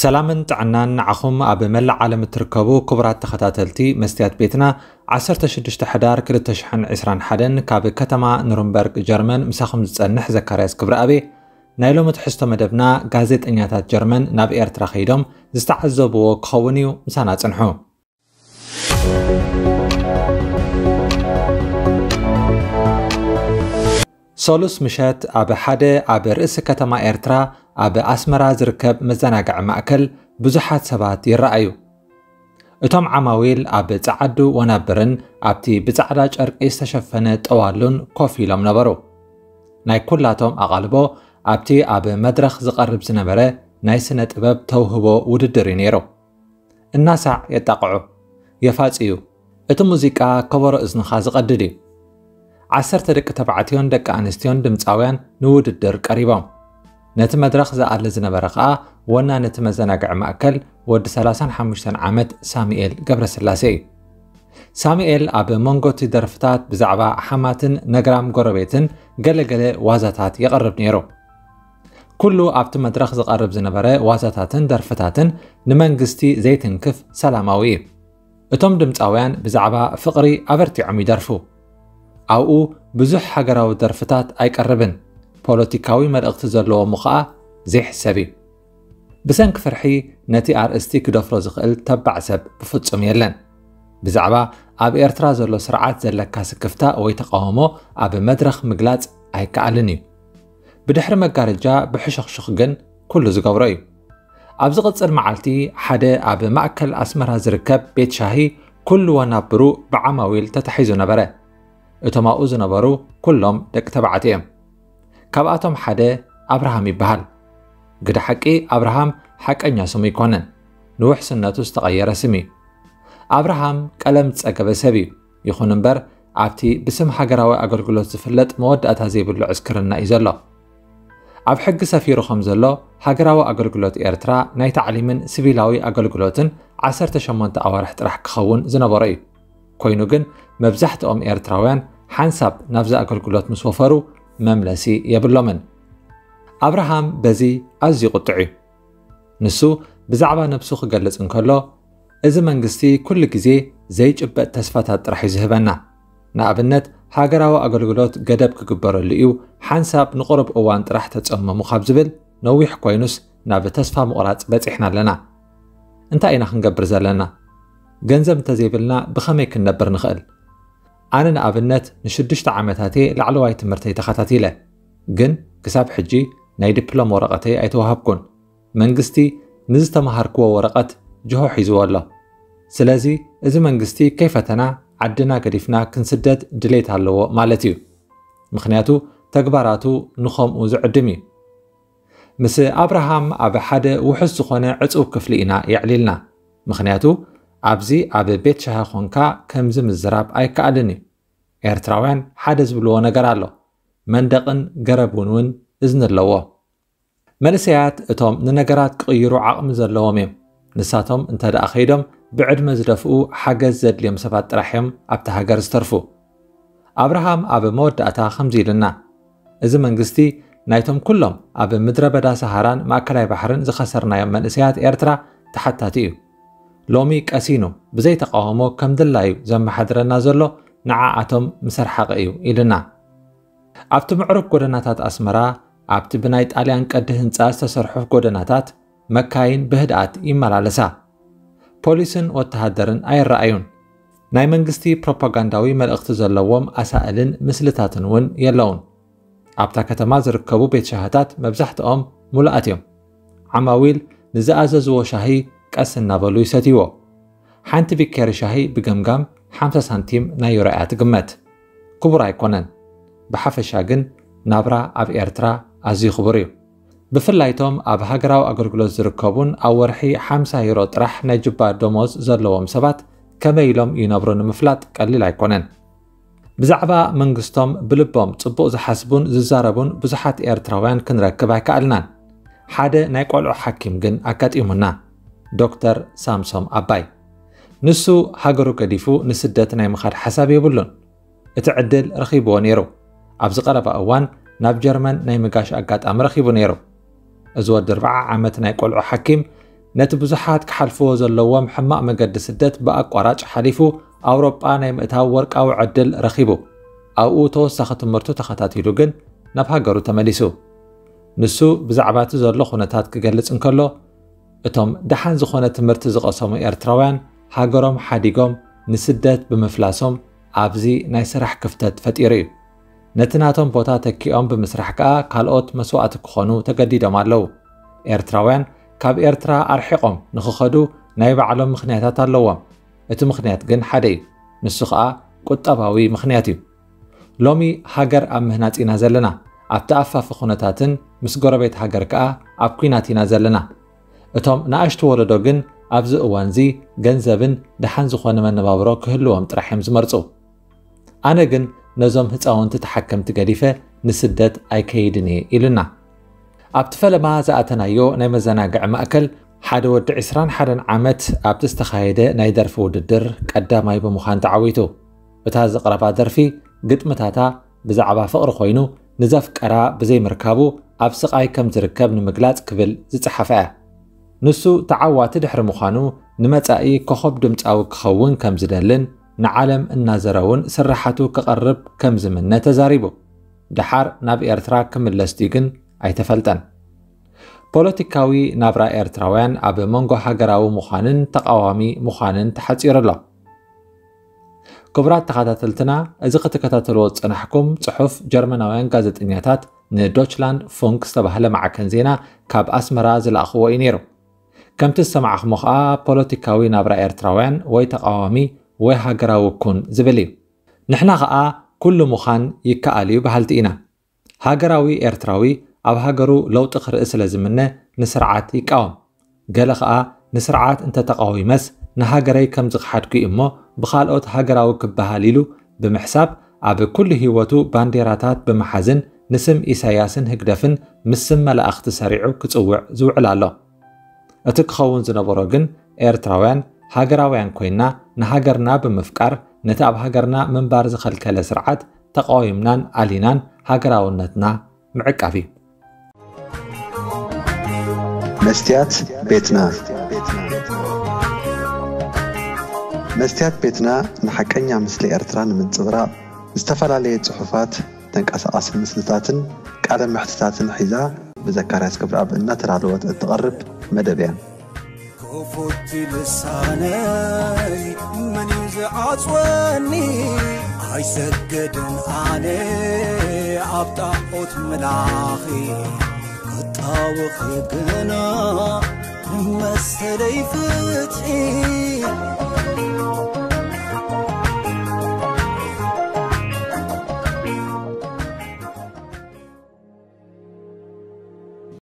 ሰላምን ጥዕናን ንዓኹም ኣብ መላእ ዓለም እትርከቡ ክቡራት ተኸታተልቲ መስትያት ቤትና። ዓሰርተ ሽዱሽተ ሕዳር ክልተ ሽሕን ዕስራን ሓደን ካብ ከተማ ኑርንበርግ ጀርመን ምሳኹም ዝጸንሕ ዘካርያስ ክብረኣብ። ናይ ሎሚ ትሕዝቶ መደብና፣ ጋዜጠኛታት ጀርመን ናብ ኤርትራ ከይዶም ዝተዓዘብዎ ክኸውን እዩ። ምሳና ጽንሑ። ሰሉስ ምሸት ኣብ ሓደ ኣብ ርእሲ ከተማ ኤርትራ ኣብ ኣስመራ ዝርከብ መዘናግዒ ማእከል ብዙሓት ሰባት ይረኣዩ። እቶም ዓማዊል ኣብ ጸዓዱ ወናብርን ኣብቲ ብጻዕዳ ጨርቂ ዝተሸፈነ ጠዋሉን ኮፍ ኢሎም ነበሩ። ናይ ኩላቶም ኣቓልቦ ኣብቲ ኣብ መድረኽ ዝቐርብ ዝነበረ ናይ ስነ ጥበብ ተውህቦ ውድድር እዩ ነይሩ። እናሳዕ የጣቕዑ፣ የፋጽዩ። እቲ ሙዚቃ ከበሮ እዝንኻ ዝቐድድ እዩ። ዓሰርተ ደቂ ተባዕትዮን ደቂ ኣንስትዮን ድምጻውያን ንውድድር ቀሪቦም። ነቲ መድረኽ ዝኣሊ ዝነበረ ከኣ ወናኒ እቲ መዘናግዒ ማእከል ወዲ ሰላሳን ሓሙሽተን ዓመት ሳሙኤል ገብረስላሴ እዩ። ሳሙኤል ኣብ መንጎ እቲ ደርፍታት ብዛዕባ ሓማትን ነግራም ጎረቤትን ገለገለ ዋዛታት የቕርብ ነይሩ። ኩሉ ኣብቲ መድረኽ ዝቐርብ ዝነበረ ዋዛታትን ደርፍታትን ንመንግስቲ ዘይትንክፍ ሰላማዊ እዩ። እቶም ድምጻውያን ብዛዕባ ፍቕሪ ኣበርቲዖም ይደርፉ። ኣብኡ ብዙሕ ሃገራዊ ደርፍታት ኣይቀርብን፣ ፖለቲካዊ መልእኽቲ ዘለዎ ምዃኣ ዘይሕሰብ እዩ። ብሰንኪ ፍርሒ ነቲ ኣርእስቲ ክደፍሮ ዝኽእል ተባዕ ሰብ ብፍጹም የለን። ብዛዕባ ኣብ ኤርትራ ዘሎ ስርዓት ዘለካ ስክፍታ ወይ ተቃውሞ ኣብ መድረኽ ምግላጽ ኣይከኣልን እዩ። ብድሕሪ መጋረጃ ብሕሹኽሹኽ ግን ኩሉ ዝገብሮ እዩ። ኣብ ዝቕጽል መዓልቲ ሓደ ኣብ ማእከል ኣስመራ ዝርከብ ቤት ሻሂ ኩሉ ወናብሩ ብዓማዊል ተታሒዙ ነበረ። እቶም ኣብኡ ዝነበሩ ኩሎም ደቂ ተባዕትዮ እዮም። ካብኣቶም ሓደ ኣብርሃም ይበሃል። ግደ ሓቂ ኣብርሃም ሓቀኛ ስሙ ኣይኮነን፣ ንውሕስነቱ ዝተቐየረ ስም እዩ። ኣብርሃም ቀለም ዝጸገበ ሰብ እዩ። ይኹን እምበር ኣብቲ ብስም ሃገራዊ ኣገልግሎት ዝፍለጥ መወዳእታ ዘይብሉ ዕስክርና እዩ ዘሎ። ኣብ ሕጊ ሰፊሩ ከም ዘሎ፣ ሃገራዊ ኣገልግሎት ኤርትራ ናይ ታዕሊምን ሲቪላዊ ኣገልግሎትን ዓሰርተ ሸሞንተ ኣዋርሕ ጥራሕ ክኸውን ዝነበሮ እዩ። ኮይኑ ግን መብዛሕትኦም ኤርትራውያን ሓንሳብ ናብዚ ኣገልግሎት ምስ ወፈሩ መምለሲ የብሎምን። ኣብርሃም በዚ ኣዝዩ ቁጡዕ እዩ። ንሱ ብዛዕባ ነብሱ ክገልጽ እንከሎ፣ "እዚ መንግስቲ ኩሉ ግዜ ዘይጭበጥ ተስፋታት ጥራሕ እዩ ዝህበና። ንኣብነት፣ ሃገራዊ ኣገልግሎት ገደብ ክግበረሉ እዩ፣ ሓንሳብ ንቁሩብ እዋን ጥራሕ ተጸመሙ" ካብ ዝብል ነዊሕ ኮይኑስ ናብ ተስፋ ምቑራጽ በጺሕና ኣለና። እንታይ ኢና ክንገብር ዘለና? ገንዘብ እንተዘይብልና ብኸመይ ክንነብር ንኽእል? ኣነ ንኣብነት ንሽዱሽተ ዓመታት እየ ላዕለዋይ ትምህርተይ ተኸታቲለ፣ ግን ክሳብ ሕጂ ናይ ዲፕሎም ወረቐተይ ኣይተዋህብኩን። መንግስቲ ንዝተምሃርክዎ ወረቐት ጅሆ ሒዝዎ ኣሎ። ስለዚ እዚ መንግስቲ ከይፈተና ዓድና ገዲፍና ክንስደድ ድሌት ኣለዎ ማለት እዩ። ምኽንያቱ ተግባራቱ ንኸምኡ ዝዕድም እዩ። ምስ ኣብርሃም ኣብ ሓደ ውሑስ ዝኾነ ዕጹው ክፍሊ ኢና የዕሊልና። ምኽንያቱ ኣብዚ ኣብ ቤት ሻሂ ኾንካ ከምዚ ምዝራብ ኣይከኣልን እዩ። ኤርትራውያን ሓደ ዝብልዎ ነገር ኣሎ። መንደቕን ገረብን እውን እዝኒ ኣለዎ። መንእሰያት እቶም ንነገራት ክቕይሩ ዓቕሚ ዘለዎም እዮም። ንሳቶም እንተ ደኣ ከይዶም ብዕድመ ዝደፍኡ ሓገዝ ዘድልዮም ሰባት ጥራሕ እዮም ኣብታ ሃገር ዝተርፉ። ኣብርሃም ኣብ መወዳእታ ከምዚ ኢሉና፣ "እዚ መንግስቲ ናይቶም ኩሎም ኣብ ምድረ በዳ ሰሃራን ማእከላይ ባሕርን ዝኸሰርናዮም መንእሰያት ኤርትራ ተሓታቲ እዩ። ሎሚ ቀሲኑ ብዘይ ተቃውሞ ከም ድላዩ ዘመሓድረና ዘሎ ንዓኣቶም ምስ ኣርሓቐ እዩ" ኢሉና። ኣብቲ ምዕሩግ ጎደናታት ኣስመራ፣ ኣብቲ ብናይ ጣልያን ቅዲ ህንጻ ዝተሰርሑ ጎደናታት፣ መካይን ብህድኣት ይመላለሳ። ፖሊስን ወተሃደርን ኣይረኣዩን። ናይ መንግስቲ ፕሮፓጋንዳዊ መልእኽቲ ዘለዎም ኣሳእልን ምስልታትን እውን የለውን። ኣብታ ከተማ ዝርከቡ ቤት ሻሂታት መብዛሕትኦም ሙሉኣት እዮም። ዓማዊል ንዝኣዘዝዎ ሻሂ ቀስ እናበሉ ይሰትይዎ። ሓንቲ ቢኬሪ ሻሂ ብገምጋም ሓምሳ ሳንቲም ናይ ዩሮ እያ ትግመት። ክቡር ኣይኮነን። ብሓፈሻ ግን ናብራ ኣብ ኤርትራ ኣዝዩ ክቡር እዩ። ብፍላይ እቶም ኣብ ሃገራዊ ኣገልግሎት ዝርከቡን ኣብ ወርሒ ሓምሳ ዩሮ ጥራሕ ናይ ጅባ ደሞዝ ዘለዎም ሰባት ከመይ ኢሎም ይነብሩ ንምፍላጥ ቀሊል ኣይኮነን። ብዛዕባ መንግስቶም ብልቦም ጽቡቕ ዝሓስቡን ዝዛረቡን ብዙሓት ኤርትራውያን ክንረክብ ኣይከኣልናን። ሓደ ናይ ቆልዑ ሓኪም ግን ኣጋጢሙና፣ ዶክተር ሳምሶም ኣባይ። ንሱ ሃገሩ ገዲፉ ንስደት ናይ ምኻድ ሓሳብ የብሉን። እቲ ዕድል ረኺብዎ ነይሩ። ኣብዚ ቀረባ እዋን ናብ ጀርመን ናይ ምጋሽ ኣጋጣሚ ረኺቡ ነይሩ። እዚ ወዲ ኣርብዓ ዓመት ናይ ቆልዑ ሓኪም ነቲ ብዙሓት ክሓልፍዎ ዘለዎም ሕማቕ መገዲ ስደት ብኣቋራጭ ሓሊፉ ኣውሮጳ ናይ ምእታው ወርቃዊ ዕድል ረኺቡ። ኣብኡ ተወሳኺ ትምህርቱ ተኸታቲሉ ግን ናብ ሃገሩ ተመሊሱ። ንሱ ብዛዕባ እቲ ዘሎ ኩነታት ክገልጽ እንከሎ፣ እቶም ደሓን ዝኾነ ትምህርቲ ዝቐሰሙ ኤርትራውያን ሃገሮም ሓዲጎም ንስደት ብምፍላሶም ኣብዚ ናይ ስራሕ ክፍተት ፈጢሩ እዩ። ነቲ ናቶም ቦታ ተኪኦም ብምስራሕ ከኣ ካልኦት መስዋእቲ ክኾኑ ተገዲዶም ኣለዉ። ኤርትራውያን ካብ ኤርትራ ኣርሒቖም ንኽኸዱ ናይ ባዕሎም ምኽንያታት ኣለዎም። እቲ ምኽንያት ግን ሓደ እዩ። ንሱ ኸኣ ቁጠባዊ ምኽንያት እዩ። ሎሚ ሃገር ኣብ ምህናጽ ኢና ዘለና። ኣብቲ ኣፋፊ ኩነታትን ምስ ጎረቤት ሃገር ከኣ ኣብ ኲናት ኢና ዘለና። እቶም ንኣሽቱ ወለዶ ግን ኣብዚ እዋንዚ ገንዘብን ደሓን ዝኾነ መነባብሮ ክህልዎም ጥራሕ እዮም ዝመርጹ። ኣነ ግን ነዞም ህጻውንቲ ተሓከምቲ ገዲፈ ንስደት ኣይከይድን እየ ኢሉና። ኣብቲ ፈለማ ዝኣተናዮ ናይ መዘናግዒ ማእከል ሓደ ወዲ ዕስራን ሓደን ዓመት ኣብቲ ዝተኻየደ ናይ ደርፊ ውድድር ቀዳማይ ብምዃን ተዓዊቱ። እታ ዘቕረባ ደርፊ ግጥምታታ ብዛዕባ ፍቕሪ ኮይኑ ንዘፍቀራ ብዘይምርካቡ ኣብ ስቓይ ከም ዝርከብ ንምግላጽ ክብል ዝጸሓፈ እያ። ንሱ ተዓዋቲ ድሕሪ ምዃኑ ንመጻኢ ኮኸብ ድምጻዊ ክኸውን ከም ዝደልን ንዓለም እናዘረ እውን ስራሓቱ ክቐርብ ከም ዝምነ ተዛሪቡ። ደሓር ናብ ኤርትራ ክምለስ ድዩ ግን ኣይተፈልጠን። ፖለቲካዊ ናብራ ኤርትራውያን ኣብ መንጎ ሃገራዊ ምዃንን ተቓዋሚ ምዃንን ተሓጺሩ ኣሎ። ክቡራት ተኸታተልትና፣ እዚ ክትከታተልዎ ዝጸናሕኩም ጽሑፍ ጀርመናውያን ጋዜጠኛታት ንዶችላንድ ፉንክ ዝተባህለ ማዕከን ዜና ካብ ኣስመራ ዝለኣኽዎ እዩ ነይሩ። ከምቲ ዝሰማዕኹሞ ኸኣ ፖለቲካዊ ናብራ ኤርትራውያን ወይ ተቓዋሚ ወይ ሃገራዊ ኩን ዝብል እዩ። ንሕና ኸኣ ኩሉ ምዃን ይከኣል እዩ በሃልቲ ኢና። ሃገራዊ ኤርትራዊ ኣብ ሃገሩ ለውጢ ክርኢ ስለ ዝምነ ንስርዓት ይቃወም። ገለ ኸኣ ንስርዓት እንተተቓዊመስ ንሃገረይ ከም ዝኸሓድኩ እዩ እሞ ብኻልኦት ሃገራዊ ክበሃል ኢሉ ብምሕሳብ ኣብ ኩሉ ህይወቱ ባንዴራታት ብምሓዝን ንስም ኢሳያስን ህግደፍን ምስ ስም መላእኽቲ ሰሪዑ ክጽውዕ ዝውዕል ኣሎ። እቲ ክኸውን ዝነበሮ ግን ኤርትራውያን ሃገራውያን ኮይና ንሃገርና ብምፍቃር ነቲ ኣብ ሃገርና ምንባር ዝኸልከለ ስርዓት ተቓዊምናን ኣሊናን ሃገራውነትና ምዕቃብ እዩ። መስትያት ቤትና። መስትያት ቤትና ንሓቀኛ ምስሊ ኤርትራ ንምንጽብራቕ ዝተፈላለየ ጽሑፋት፣ ተንቀሳቓሲ ምስልታትን ቃለ መሕትታትን ሒዛ ብዘካርያስ ክብረኣብ እናተዳለወት እትቐርብ መደብ እያ። ክፉት ልሳነይ መን እዩ ዝዓጽወኒ? ኣይሰገድን ኣነ ኣብ ጣዖት ምላኺ ክጣወኺ ግና መሰለይ ፍትሒ